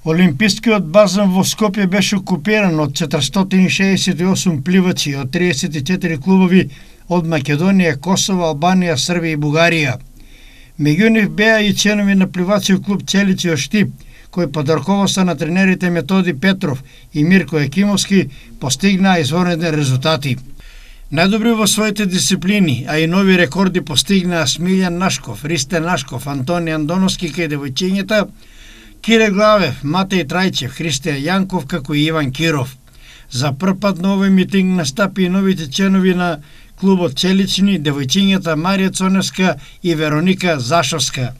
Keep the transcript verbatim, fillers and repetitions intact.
Олимпискиот базен во Скопје беше окупиран од четиристотини шеесет и осум пливачи од триесет и четири клубови од Македонија, Косово, Албанија, Србија и Бугарија. Меѓу нив беа и членови на пливачиот клуб Челичи од Штип, кој под раководство на тренерите Методи Петров и Мирко Екимовски постигнаа извонредни резултати. Најдобри во своите дисциплини, а и нови рекорди постигнаа Смилјан Нашков, Ристе Нашков, Антони Андоновски кај девојчињата, Кире Главев, Матеј Трајчев, Христијан Јанков, како и Иван Киров. За прв пат на овој митинг настапи и новите членови на клубот Челични, девојчињата Марија Цоневска и Вероника Зашовска.